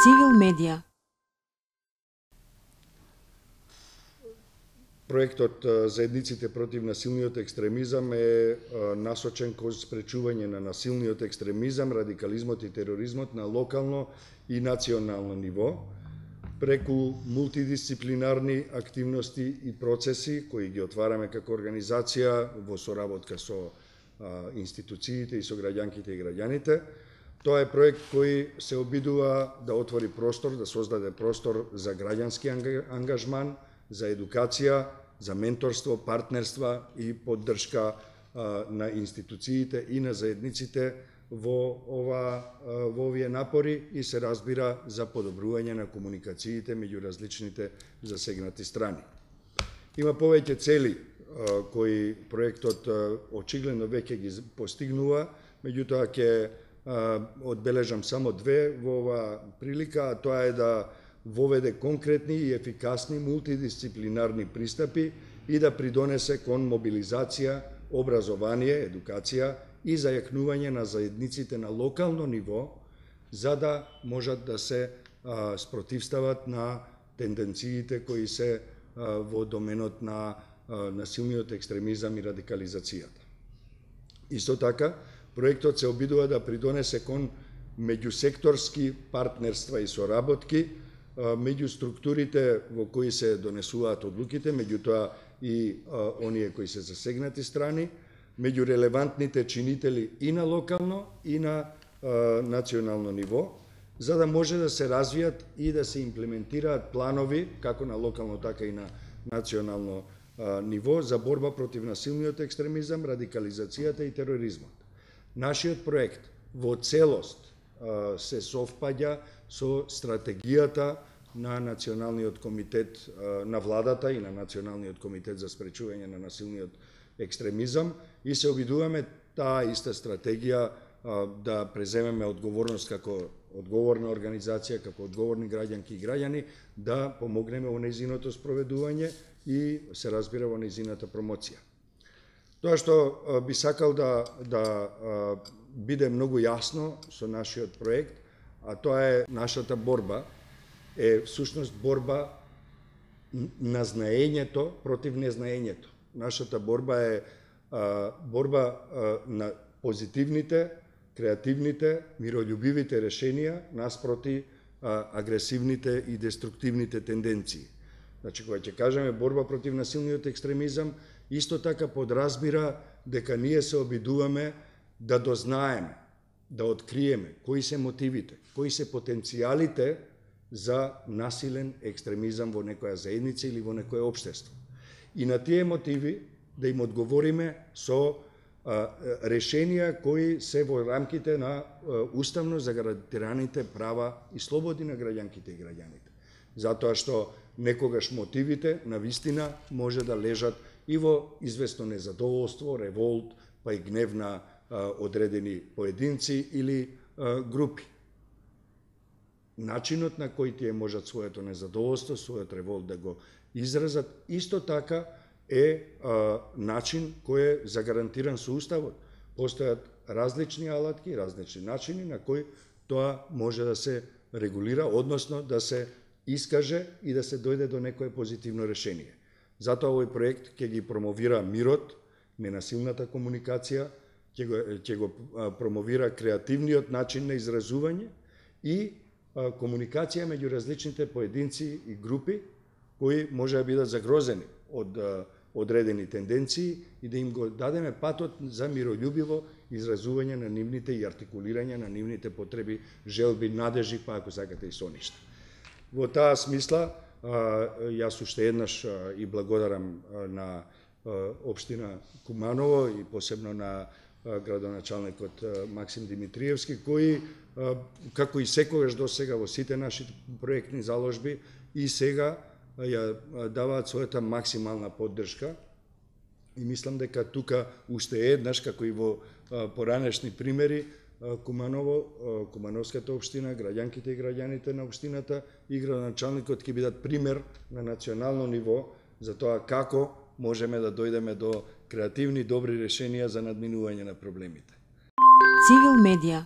Civil Media. Проектот Заедниците против насилниот екстремизам е насочен кон спречување на насилниот екстремизам, радикализмот и тероризмот на локално и национално ниво, преку мултидисциплинарни активности и процеси кои ги отвараме како организација во соработка со институциите и со граѓанките и граѓаните. Тоа е проект кој се обидува да отвори простор, да создаде простор за граѓански ангажман, за едукација, за менторство, партнерства и поддршка на институциите и на заедниците во овие напори и се разбира за подобрување на комуникациите меѓу различните засегнати страни. Има повеќе цели кои проектот очигледно веќе ги постигнува, меѓутоа ќе одбележам само две во оваа прилика, а тоа е да воведе конкретни и ефикасни мултидисциплинарни пристапи и да придонесе кон мобилизација, образование, едукација и зајакнување на заедниците на локално ниво, за да можат да се спротивстават на тенденциите кои се во доменот на насилниот екстремизам и радикализацијата. Исто така, проектот се обидува да придонесе кон меѓусекторски партнерства и соработки меѓу структурите во кои се донесуваат одлуките, меѓутоа и оние кои се засегнати страни, меѓу релевантните чинители и на локално и на национално ниво, за да може да се развијат и да се имплементираат планови, како на локално, така и на национално ниво, за борба против насилниот екстремизам, радикализацијата и тероризмот. Нашиот проект во целост се совпаѓа со стратегијата на Националниот комитет на владата и на Националниот комитет за спречување на насилниот екстремизам и се обидуваме таа иста стратегија да преземеме одговорност како одговорна организација, како одговорни граѓанки и граѓани, да помогнеме во нејзиното спроведување и се разбира во нејзината промоција. Тоа што би сакал да биде многу јасно со нашиот проект, а тоа е нашата борба, е всушност борба на знаењето против незнаењето. Нашата борба е борба на позитивните, креативните, мирољубивите решенија наспроти агресивните и деструктивните тенденции. Значи, кога ќе кажеме борба против насилниот екстремизам, исто така подразбира дека ние се обидуваме да дознаеме, да откриеме кои се мотивите, кои се потенцијалите за насилен екстремизам во некоја заедница или во некое општество. И на тие мотиви да им одговориме со решенија кои се во рамките на уставно загарантираните права и слободи на граѓанките и граѓаните. Затоа што некогаш мотивите на вистина може да лежат и во известно незадоволство, револт, па и гнев на одредени поединци или групи. Начинот на кој тие можат своето незадоволство, својот револт да го изразат, исто така е начин кој е загарантиран со Уставот. Постојат различни алатки, различни начини на кои тоа може да се регулира, односно да се искаже и да се дојде до некое позитивно решение. Затоа овој проект ќе ги промовира мирот, ненасилната комуникација, ќе го промовира креативниот начин на изразување и комуникација меѓу различните поединци и групи кои може да бидат загрозени од одредени тенденции и да им го дадеме патот за мирољубиво изразување на нивните и артикулирање на нивните потреби, желби, надежи, па ако сакате и соништа. Во таа смисла, јас уште еднаш и благодарам на општина Куманово и посебно на градоначалникот Максим Димитриевски, кои, како и секогаш досега во сите наши проектни заложби, и сега ја даваат својата максимална поддршка. И мислам дека тука уште еднаш, како и во поранешни примери, Куманово, Кумановската општина, граѓанките и граѓаните на општината и градоначалникот ќе бидат пример на национално ниво за тоа како можеме да дојдеме до креативни, добри решенија за надминување на проблемите. Civil Media.